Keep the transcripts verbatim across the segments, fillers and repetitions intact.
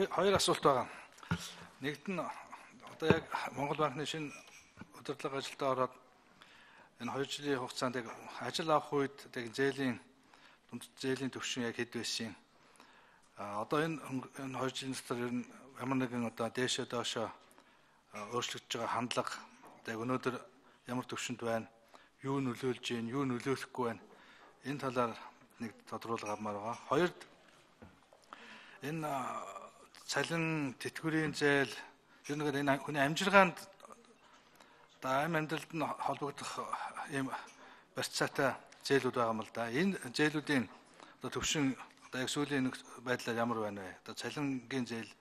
Хоёр асуулт байгаа. Нэгт нь одоо яг Монгол банкны шинэ удирдлага ажилдаа ороод энэ хоёр жилийн хугацаанд яг ажил авах үед яг зээлийн дунд зээлийн түвшин яг хэд байсан юм. А одоо энэ энэ хоёр жилийн дотор ер нь ямар нэгэн одоо дээшээ доошоо өөрчлөгдөж байгаа хандлага яг өнөөдөр ямар түвшинд байна? Юу нөлөөлж байна? Юу нөлөөлөхгүй байна? Энэ талаар нэг тодруулга авмаар байгаа. Хоёрд энэ цалин тэтгэврийн зээл ер нь энэ хүний амжиргаанд даим амьдралд нь холбогдох ийм барьцаатай зээлүүд байгаа юм л да. Энэ зээлүүдийн одоо төвшин одоо яг сүүлийн нэг байдлаар ямар байна вэ? Одоо цалингийн зээл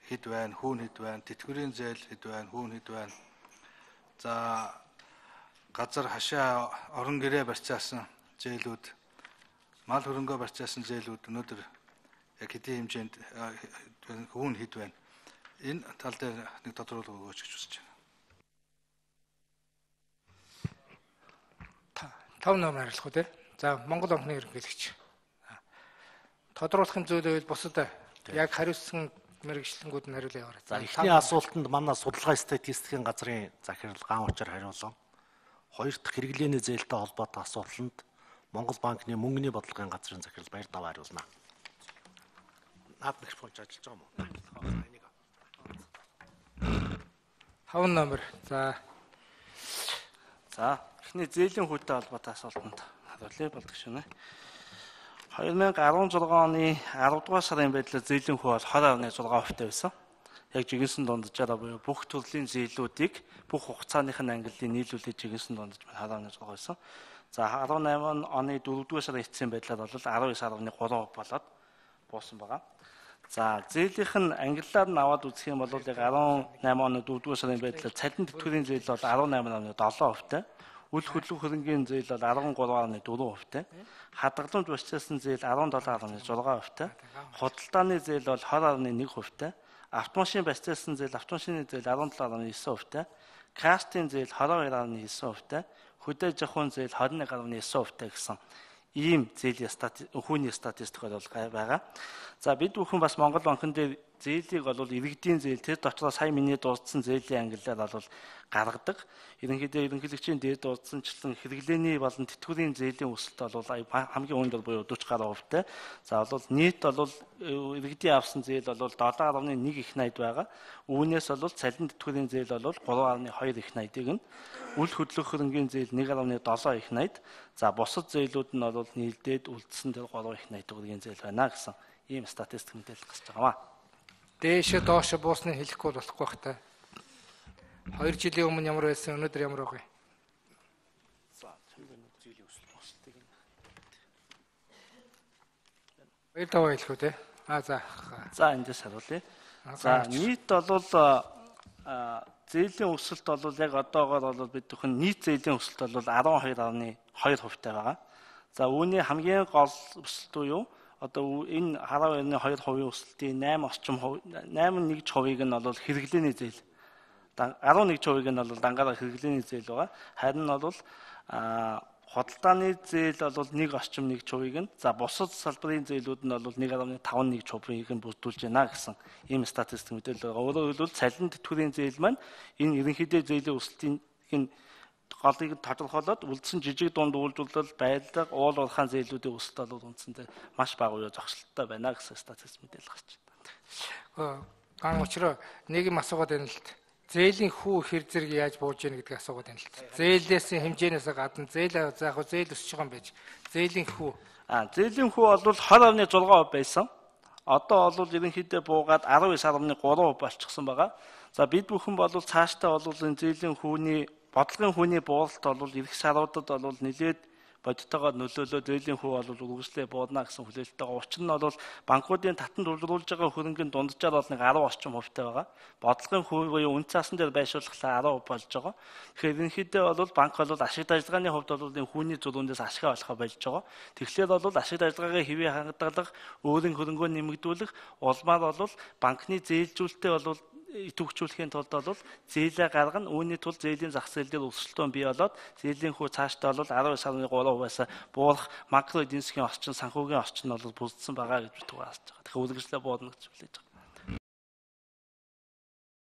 хэд байна, хүүн хэд байна, тэтгэврийн зээл хэд байна, хүүн хэд байна. За газар хашаа орон гэрээ барьцаасан зээлүүд, мал хөрөнгөө барьцаасан зээлүүд өнөөдөр яг хэдийн хэмжээнд хүүн хэд байна. Энэ тал дээр нэг тодруулга өгөөч гэж хүсэж байна. Тав номер хариулах уу те? За Монгол банкны ерөнхийлөгч. Тодруулахын зүйл байвал бусад яг хариуцсан мэргэжлэнгүүд нь хариулъя яваарай. За эхний асуултанд манай судалгаа статистикийн газрын захирал Гаан Учир хариулсан. Хоёр дахь хэрэглээний зээлтэй холбоотой асуултанд Монгол банкны мөнгөний бодлогын газрын захирал Баяр Дав хариулна. Наад микрофонч ажиллаж байгаа юм уу? Хав номер. За. За, эхний зээлийн хүйтэй холбоотой асуултанд хариулъя болдог шинэ. две тысячи десять оны арав дугаар сарын байдлаар зээлийн хүү бол двадцать фаصلة шесть процент байсан. Яг жигэнсэн дунджаараа буюу бүх төрлийн зээлүүдийг бүх хугацааных нь ангиллын нийлүүлээд жигэнсэн дундаж двадцать фаصلة шесть байсан. За десембр оны дөрөвдүгээр сарын эцсийн байдлаар бол десять фаصلة три процент болоод буусан байгаа. За зээлийнх нь англиар нь аваад үзэх юм бол яг десембр оны дөрөвдүгээр сарын байдлаар цалин тэтгэврийн зээл бол десять фаصلة seven процент, үл хөдлөх хөрөнгийн зээл бол13.4 процент, хадгаламж барьцаасан зээл seven point six процент, худалдааны зээл бол twenty point one процент, автомашин барьцаасан зээл автомашины зээл sevenseven процент, кастын зээл twenty-two point nine процент, хөдөө жахуун зээл twenty-one point nine процент гэсэн ийм зээлийн статистик хүүний статистик бол байгаа. За бид бүхэн бас Монгол банкн дээр зээлийг бол иргэдийн зээл тэр дотроо сая миний дурдсан зээлийн ангиллаар бол гаргадаг. Ерөнхийдөө ерөнхийлөгчийн дээр дурдсанчлан хэрэглээний болон тэтгэврийн зээлийн өсөлт бол хамгийн өндөр буюу forty процент. За бол нийт бол иргэдийн авсан зээл бол seven point one их найд байгаа. Үүнээс бол цалин тэтгэврийн зээл бол three point two их найдыг нь, үл хөдлөх хөрөнгийн зээл one point seven их найд, за бусад зээлүүд нь бол нийлдээд үлдсэн дээр three их найд төгрөгийн зээл байна гэсэн ийм статистик мэдээлэл гарч байгаа. Дээшээ доошо буусныг хэлэхгүй болохгүй бах та. Хоёр жилийн өмнө ямар байсан, өнөөдөр ямар байгаа вэ? За цэвэр зээлийн өсөлт босдгийг нь. Баяр таваа хэлэх үү те? Аа за. За эндээс хариулъя. За нийт бол зээлийн өсөлт бол яг одоогоор бол бид бүхэн нийт зээлийн өсөлт бол twelve point two процент байгаа. За үүний хамгийн гол өсөлт юу? Одоо энэ twelve point two процент өсөлтийн eight орчим eight %-ийг нь бол хэрэглээний зээл. eleven %-ийг нь бол дангаараа хэрэглээний зээл байгаа. Харин бол худалдааны зээл бол one орчим one %-ийг нь, за бусад салбарын зээлүүд нь бол one point five %-ийг нь бүрдүүлж байна гэсэн ийм статистик мэдээлэл байгаа. Өөрөөр хэлбэл цалин тэтгэврийн зээл маань энэ ерөнхийдөө зээлийн өсөлтийн голыг тодорхойлоод үлдсэн жижиг дунд үйлдвэрлэл, байлга, уул уурхайн зээлүүдийн өсөлт бол үндсэндээ маш бага буюу зогсолттой байна гэсэн статистик мэдээлэл гарч байна. Гаан учраа нэг юм асуугаад байна л д. Зээлийн хүү хэр зэрэг яаж бууж яах гэдгийг асуугаад байна л д. Зээлээс хэмжээнээс гадна зээл за яг зээл өсөж байгаа юм байж. Зээлийн хүү. Аа зээлийн хүү бол twenty point six процент байсан. Одоо бол ерөнхийдөө буугаад nineteen point three процент болчихсон байгаа. За бид бүхэн бол цаашдаа бол энэ зээлийн хүүний бодлогын хүүний бууралт бол ирэх саруудад бол нэлээд бодитойгоор нөлөөлөө зээлийн хүү бол үргэлжлээ буудана гэсэн хүлээлттэй байгаа. Учир нь бол банкуудын татан төвлөрүүлж байгаа хөрөнгөний дунджаар бол нэг ten орчим хувьтай байгаа. Бодлогын хүү буюу үн цаасан дээр байршуулахлаа ten болж байгаа. Тэгэхээр ерөнхийдөө бол банк бол ашигт ажиллагааны хувьд бол энэ хүүний зөрүүндээс ашиг олохоо болж байгаа. Тэгэхээр бол ашигт ажиллагаагийн хэвийн хангадаг, өөрийн хөрөнгөө нэмэгдүүлэх, улмаар бол банкны зээлжүүлэлтээ бол идэвхжүүлэхийн тулд бол зээлээ гаргана, үүний тулд зээлийн зах зээл дээр өсөлтөө бий болоод зээлийн хүү цаашдаа бол nineteen point three процент-аас буурах макро эдийн засгийн орчин, санхүүгийн орчин бол бүрдсэн байгаа гэж бид түгээс байгаа. Тэгэхээр үргэлжлээ буудна гэж хүлээж байгаа.